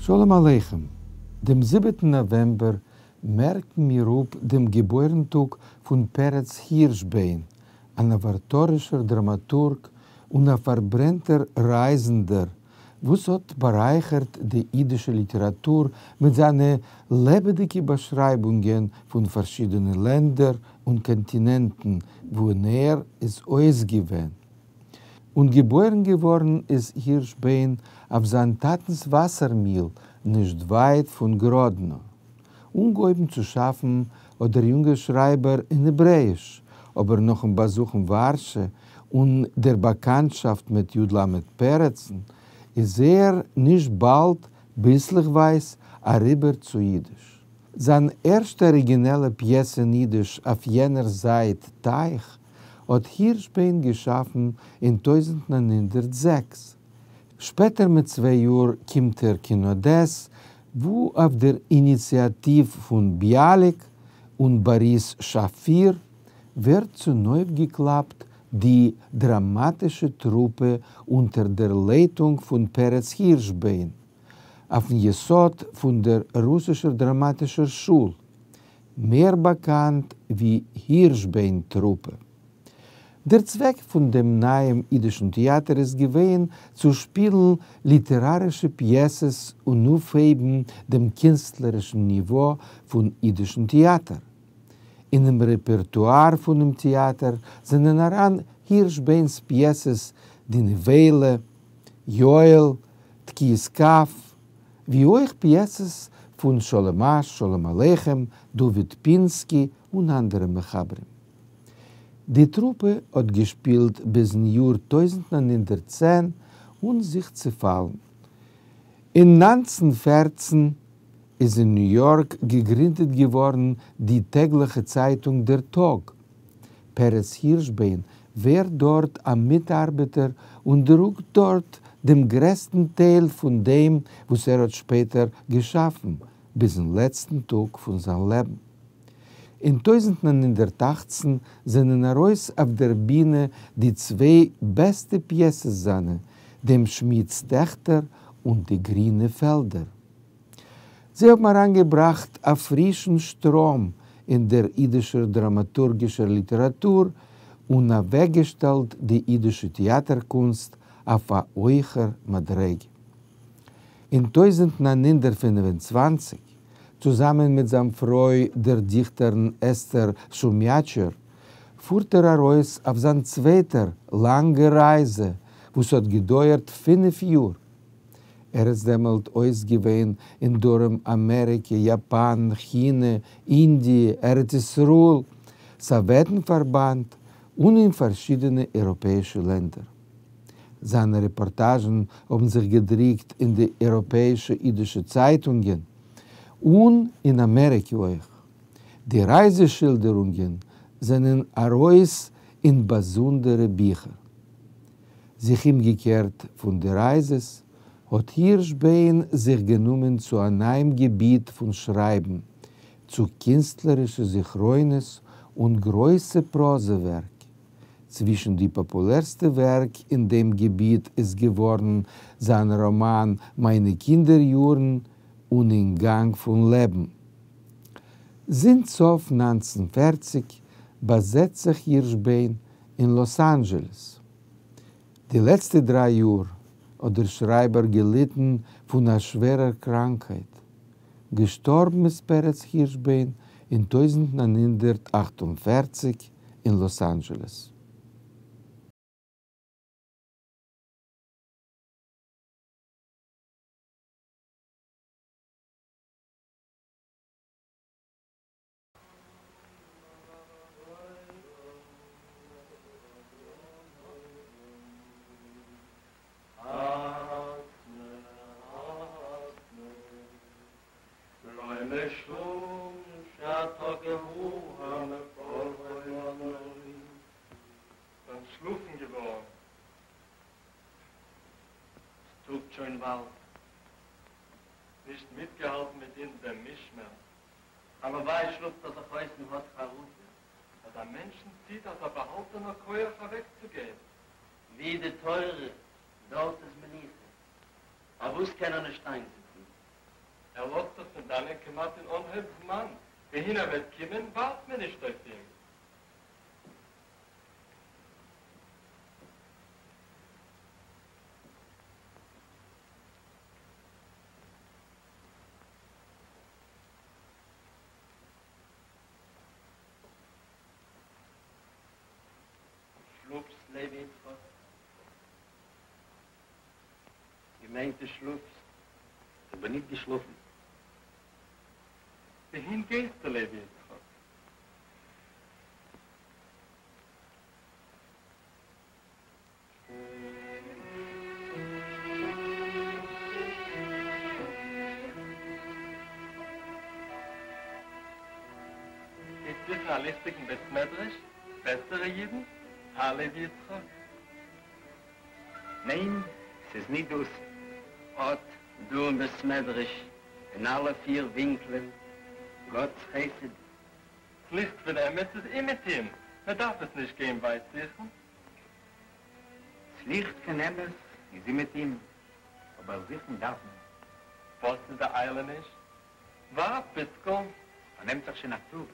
שלום עליכם! דעם זיבעטן נאוועמבער מערקן מיר אפ דעם געבוירן-טאג פון פרץ הירשביין, א נאוואטארישער דראמאטורג און א פארברענטער רייזנדער, וואס האט בארייכערט די אידישע ליטעראטור מיט זיינע לעבעדיגע באשרייבונגען פון פארשידענע לענדער און קאנטינענטן וואו ער איז אויסגעווען. און געבוירן געווארן איז הירשביין אויף זיין טאטנ'ס וואסער מיל נישט ווייט פון גראדנא. אנגעהויבן צו שאפן האט דער יונגער שרייבער אין העברעאיש, אבער נאכן באזוכן ווארשע און דער באקאנטשאפט מיט י ל פרצן איז ער נישט באלד ביסלעכווייז אריבער צו אידיש. זיין ערשטע אריגינעלע פיעסע אין אידיש אויף יענער זייט טייך האט הירשביין געשאפן אין 1906. שפעטער מיט צוויי יאר קומט ער קיין אדעס, וואו אויף דער איניציאטיוו פון ביאליק און באריס שאפיר ווערט צונויפגעקלאפט די דראמאטישע טרופע אונטער דער לייטונג פון פרץ הירשביין, אויפן יסוד פון דער רוסישער דראמאטישער שול, מער באקאנט ווי הירשביין טרופע. דער צוועק פון דעם נייעם אידישן טעאטער איז געווען צו שפילן ליטערארישע פיעסעס און אויפהייבן דעם קינסטלערישן ניווא פון אידישן טעאטער. אינעם רעפערטואר פונעם טעאטער זענען אריין הירשביינ'ס פיעסעס די נבילה, יואל, תקיעת כף, ווי אויך פיעסעס פון שלום אש, שלום עליכם, דוד פינסקי און אנדערע מחברים. די טרופע האט געשפילט ביזן יאר 1910 און זיך צעפאלן. אין 1914 איז אין ניו יארק געגרינדעט געווארן די טעגליכע צייטונג דער טאג. פרץ הירשביין ווערט דארט א מיטארבעטער און דרוקט דארט דעם גרעסטן טייל פון דעם וואס ער האט שפעטער געשאפן, ביזן לעצטן טאג פון זיין לעבן. אין 1918 זענען ארויס אויף דער בינע די צוויי בעסטע פיעסעס זיינע, דעם שמידס טעכטער און די גרינע פעלדער. זיי האבן אריינגעבראכט א פרישן שטראם אין דער אידישער דראמאטורגישער ליטעראטור און אוועקגעשטעלט די אידישע טעאטער-קונסט אויף א הויכער מדריגה. אין 1925, צוזאמען מיט זיין פרוי דער דיכטערין אסתר שומיאטשער, פארט ער ארויס אויף זיין צווייטער לאנגער רייזע, וואס האט געדויערט פינף יאר. ער איז דעמאלט אויסגעווען אין דרום אמעריקע, יאפאן, כינע, אינדיע, ארץ ישראל, סאוועטן-פארבאנד און אין פארשידענע אייראפעאישע לענדער. זיינע רעפארטאזשן האבן זיך געדרוקט אין די אייראפעאישע אידישע צייטונגען און אין אמעריקע אויך. די רייזע שילדערונגען זענען ארויס אין באזונדערע ביכער. זיך אומגעקערט פון די רייזעס, האט הירשביין זיך גענומען צו א נייעם געביט פון שרייבן, צו קינסטלערישע זכרונות און גרויסע פראזע ווערק. צווישן די פאפולערסטע ווערק אין דעם געביט איז געווארן זיין ראמאן מיינע קינדער יארן און אין גאנג פון לעבן. זינט סוף 1940 באזעצט זיך הירשביין אין לאס אנדזשעלעס. די לעצטע דריי יאר האט דער שרייבער געליטן פון א שווערער קראנקהייט. געשטארבן איז פרץ הירשביין אין 1948 אין לאס אנדזשעלעס. אנטשלאפן געווארן. ס'טאגט שוין באלד. נישט מיטגעהאלטן מיט אונז דעם משמר. הלוואי שלאפט ער זיך אויס און האט חרטה. אז א מענטשן ציט אזא באהאלטענער כח אוועקצוגיין. ווי די תורה, דארט איז מנוחה. פארוואס קען ער נישט איינזיצן? ער לאזט זיך פון דאנען כמעט אין אנהויב זמן, וואוהין ער וועט קומען ווארט מען נישט אויף אים. שלאפסט, לוי יצחק? געמיינט דו שלאפסט. איך בין ניט געשלאפן. וואוהין גייסטו, לוי יצחק? גייסט זוכן א ליכטיגן בית מדרש? בעסערע אידן? הא, לוי יצחק? ניין, ס'איז ניט דאס. אט דא אין בית מדרש, אין אלע פיר ווינקלען, גאט'ס חסד. ס'ליכט פון אמת איז אומעטום, מען דארף עס נישט גיין ווייט זוכן. ס'ליכט פון אמת איז אומעטום, אבער זוכן דארף מען. וואס איז די איילעניש? ווארט פיצקל. פארנעמט זיך שוין א טאג.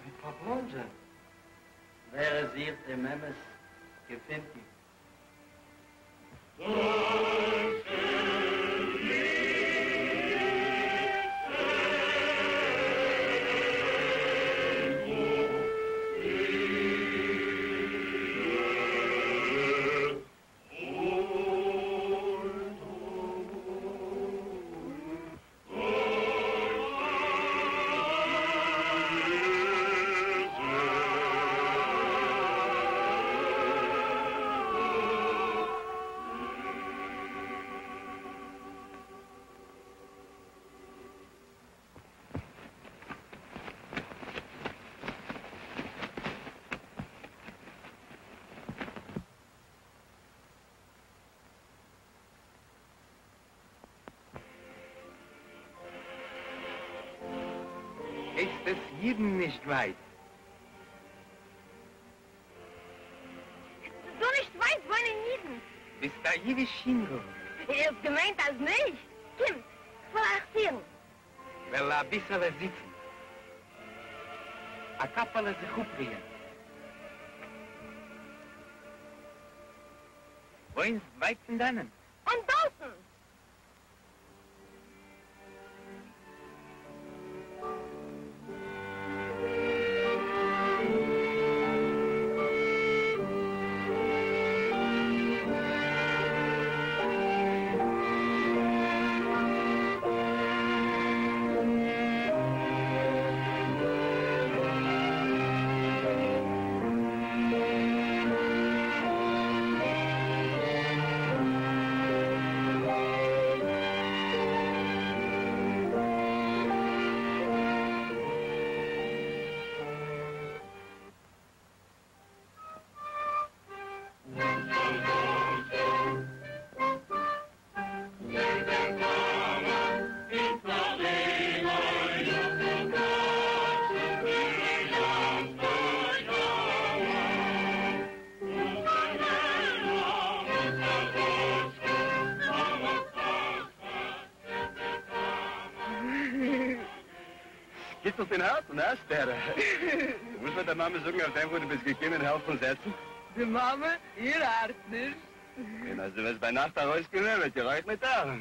ווי פארבלאנדזשען. ווער עס זוכט דעם אמת געפינט אים. הייסט עס אידן נישט ווייט. דא נישט ווייט וואוינען אידן. ביסט א אידיש יונגל. איר האט געמיינט אז נישט? קומט, כ'וועל אייך פירן. כ'וועל אביסעלע זיצן. א קאפעלע זיך אפרוען. וואוינסט ווייט פון דאנען? און דארטן! קיצלט אין הארצן, הא, שטערע? וואס וועט די מאמע זאגן אויף דעם וואס דו ביסט געקומען העלפן זעצן? די מאַמע, איר אַרט נישט. און אַז דו וועסט בײַ נאַכט אַרויסקומען, וועט איר אויך ניט אַרן.